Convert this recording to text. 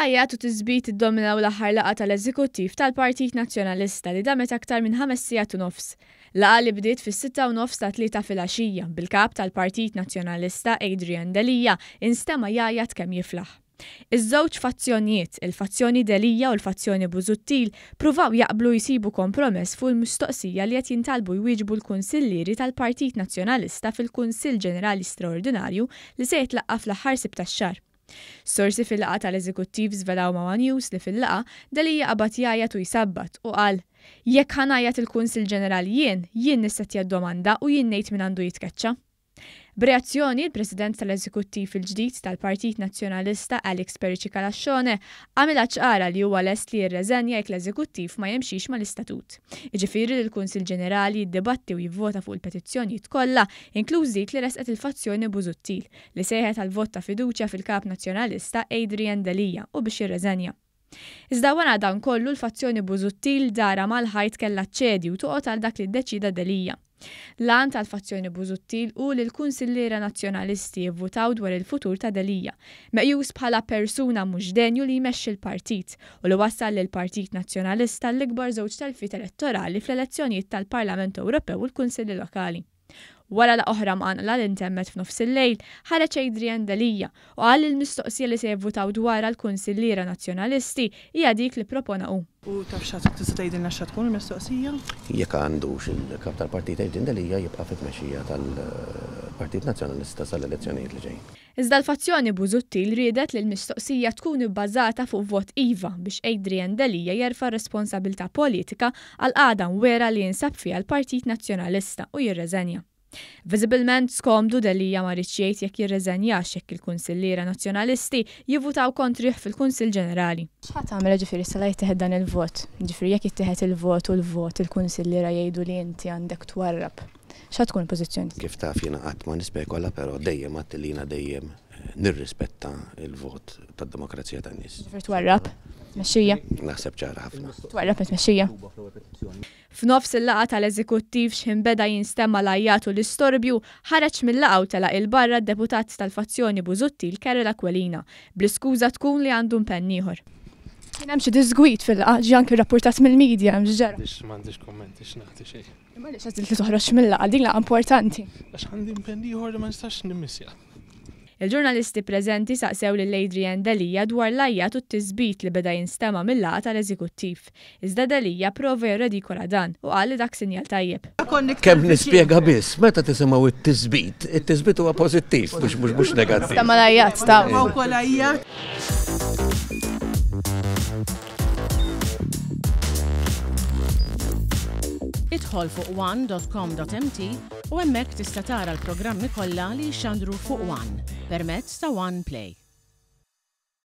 Għajjat u tisbit iddominaw l-aħħar laqgħa tal-Eżekuttiv tal-Partit Nazzjonalista li damet aktar minn ħames sigħat u nofs. Laqgħa li bdiet fis-sitta u nofs tat-Tlieta filgħaxija, bil-Kap tal-Partit Nazzjonalista Adrian Delia instema' jgħajjat kemm jiflaħ. Iż-żewġ fazzjonijiet, il-fazzjoni Delia u l-fazzjoni Busuttil, pruvaw jaqblu jsibu kompromess fuq il-mistoqsija li qed jintalbu jwieġbu l-kunsillieri tal-Partit Nazzjonalista fil-Kunsill Ġenerali Straordinarju li se jitlaqqa' fl-aħħar Sibt tax-xahar. Sorsi fil-laqgħa tal-Eżekuttiv żvelaw ma' one News li fil-laqgħa, Delia qabad jgħajjat u jsabbat u qal, Jekk ħa ngħajjat il-Kunsill Ġenerali jien, jien nissettja d-domanda u jien ngħid min għandu jitkeċċa. B'reazzjoni, il-President tal-Eżekuttiv il-ġdid tal-Partit Nazzjonalista Alex Perici Calascione għamilha ċara li huwa lest li jirreżenja jekk l-Eżekuttiv ma jimxix mal-istatut. Jiġifieri li l-Kunsill Ġenerali jiddibatti u jivvota fuq il-petizzjonijiet kollha, inkluż dik li ressqet il-fazzjoni Busuttil, li sejħet għal vot ta' fiduċja fil-Kap Nazzjonalista Adrian Delia u biex jirreżenja. Iżda wara dan kollu l-fazzjoni Busuttil darha mal-ħajt kellha ċċedi u toqgħod għal dak li ddeċieda Delia. L-għan tal-fazzjoni Busuttil hu li l-kunsilliera Nazzjonalisti jivvutaw dwar il-futur ta' Delia, meqjus bħala persuna mhux denju li jmexxi l-partit u li wassal lill-Partit Nazzjonalista l-ikbar żewġ telfiet elettorali fl-elezzjonijiet tal-Parlament Ewropew u l-Kunsilli Lokali. Wara laqgħa oħra mqanqla li ntemmet f'nofsillejl, ħareġ Adrian Delia u qal li l-mistoqsija li se jivvutaw dwarha l-kunsilliera Nazzjonalisti hija dik li ppropona hu. U taf x'ha tista' tgħidilna x'ha tkun il-mistoqsija? Jekk għandux il-Kap tal-Partit Adrian Delia jibqa' fit-tmexxija tal-Partit Nazzjonalista sal-elezzjonijiet li ġejjin. Iżda l-fazzjoni Busuttil riedet li l-mistoqsija tkun ibbażata fuq vot iva biex Adrian Delia jerfa' r-responsabilità politika għall-qagħda mwegħra li jinsab fiha l-Partit Nazzjonalista u jirreżenja. Viżibilment skomdu Delia ma riedx jgħid jekk jirreżenjax jekk il-kunsilliera Nazzjonalisti jivvutaw kontrih fil-Kunsill Ġenerali. X'ħa tagħmel jiġifieri issa la jittieħed dan il-vot? Jiġifieri jekk jittieħed il-vot u l-vot il-kunsilliera jgħidu li inti għandek twarrab. X'ha tkun il-pożizzjoni? Kif taf jiena qatt ma nispekola però dejjem għedt li jiena dejjem nirrispetta l-vot tad-demokrazija tan-nies. Ġifieri twarrab it-tmexxija? Naħseb ċara ħafna. Twarrab it-tmexxija? F'nofs il-laqgħa tal-Eżekuttiv x'ħin beda jinstema' l-għajjat u l-istorbju, ħareġ mil-laqgħa u telaq 'il barra d-deputat tal-fazzjoni Busuttil Karol Aquilina, bl-iskuża tkun li għandu impenn ieħor. Kien hemm xi diżgwid fil-laqgħa, ġie anki rrappurtat mill-media, hemm x'ġara? M'għandix kummenti x'nagħti xejn. Imma għaliex għażilt li toħroġ mil-laqgħa? Din laqgħa importanti. Għax għandi impenn ieħor li ma nistax nimmissja. Il-ġurnalisti preżenti saqsew lil Adrian Delia dwar l-għajjat u t-tisbit li beda jinstema' mil-laqgħa tal-Eżekuttiv. Iżda Delia prova jirredikola dan u qal li dak sinjal tajjeb. Kemm nispjega biss, meta tisimgħu t-tisbit, it-tisbit huwa pożittiv mhux mhux negattiv. Stema' l-għajjat ta'. Idħol fuq one.com.mt u hemmhekk tista' tara l-programmi kollha li jixxandru fuq One permezz ta' One Play.